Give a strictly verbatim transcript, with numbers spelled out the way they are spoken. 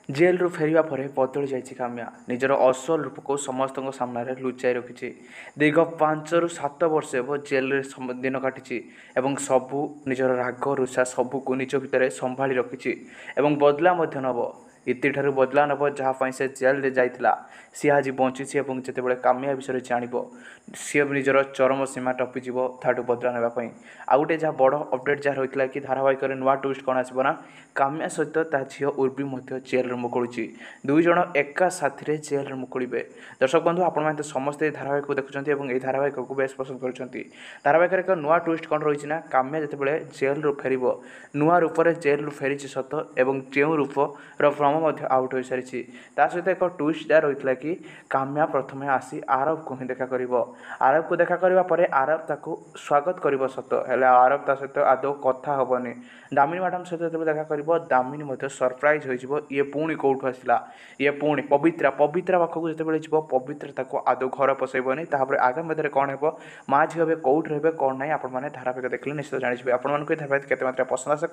ଜେଲରୁ ଫେରିବା ପରେ ବଦଳି ଯାଇଛି କାମ୍ୟା। ନିଜର ଅସଲ ରୂପକୁ ସମସ୍ତଙ୍କ ସାମ୍ନାରେ ଲୁଚାଇ ରଖିଛି। ଦୀର୍ଘ ପାଞ୍ଚରୁ ସାତ ବର୍ଷ ହେବ ଜେଲରେ ଦିନ କାଟିଛି ଏବଂ ସବୁ ନିଜର ରାଗ ରୁଷା ସବୁକୁ ନିଜ ଭିତରେ ସମ୍ଭାଳି ରଖିଛି ଏବଂ ବଦଲା ମଧ୍ୟ ନେବ। ଇତିଠାରୁ ବଦଲା ନେବ, ଯାହା ପାଇଁ ସେ ଜେଲରେ ଯାଇଥିଲା। ସିଏ ଆଜି ବଞ୍ଚିଛି ଏବଂ ଯେତେବେଳେ କାମ୍ୟା ବିଷୟରେ ଜାଣିବ, ସିଏ ନିଜର ଚରମ ସୀମା ଟପିଯିବ ତାଠୁ ବଦଲା ନେବା ପାଇଁ। ଆଉ ଗୋଟେ ଯାହା ବଡ଼ ଅପଡ଼େଟ୍ ଯାହା ରହିଥିଲା କି ଧାରାବାହିକରେ ନୂଆ ଟୁଇଷ୍ଟ କ'ଣ ଆସିବ ନା, କାମ୍ୟା ସହିତ ତା ଝିଅ ଉର୍ବି ମଧ୍ୟ ଜେଲରୁ ମୁକୁଳୁଛି। ଦୁଇ ଜଣ ଏକା ସାଥିରେ ଜେଲରୁ ମୁକୁଳିବେ। ଦର୍ଶକ ବନ୍ଧୁ, ଆପଣମାନେ ତ ସମସ୍ତେ ଏହି ଧାରାବାହିକକୁ ଦେଖୁଛନ୍ତି ଏବଂ ଏହି ଧାରାବାହିକକୁ ବେଶ ପସନ୍ଦ କରୁଛନ୍ତି। ଧାରାବାହିକରେ ଏକ ନୂଆ ଟୁଇଷ୍ଟ କ'ଣ ରହିଛି ନା, କାମ୍ୟା ଯେତେବେଳେ ଜେଲରୁ ଫେରିବ, ନୂଆ ରୂପରେ ଜେଲରୁ ଫେରିଛି ସତ ଏବଂ ଯେଉଁ ରୂପର ଭ୍ରମ ମଧ୍ୟ ଆଉଟ୍ ହୋଇସାରିଛି। ତା ସହିତ ଏକ ଟୁଇଷ୍ଟ ଯାହା ରହିଥିଲା କି କାମ୍ୟା ପ୍ରଥମେ ଆସି ଆରବକୁ ହିଁ ଦେଖା କରିବ। ଆରବକୁ ଦେଖା କରିବା ପରେ ଆରବ ତାକୁ ସ୍ୱାଗତ କରିବ ସତ, ହେଲେ ଆରବ ତା ସହିତ ଆଦୌ କଥା ହେବନି। ଦାମିନୀ ମ୍ୟାଡ଼ାମ୍ ସହିତ ଯେତେବେଳେ ଦେଖା କରିବ, ଦାମିନୀ ମଧ୍ୟ ସରପ୍ରାଇଜ୍ ହୋଇଯିବ, ଇଏ ପୁଣି କେଉଁଠୁ ଆସିଲା? ଇଏ ପୁଣି ପବିତ୍ରା ପବିତ୍ରା ପାଖକୁ ଯେତେବେଳେ ଯିବ, ପବିତ୍ରା ତାକୁ ଆଦୌ ଘର ପଶାଇବନି। ତାପରେ ଆଗାମୀ ମଧ୍ୟରେ କ'ଣ ହେବ, ମା ଝିଅ ଏବେ କେଉଁଠି ରହିବେ କ'ଣ ନାହିଁ, ଆପଣମାନେ ଧାରାବାହିକ ଦେଖିଲେ ନିଶ୍ଚିତ ଜାଣିଯିବେ। ଆପଣମାନଙ୍କୁ ଏ ଧାରାବାହିକ କେତେ ମାତ୍ରାରେ ପସନ୍ଦ ଆସେ?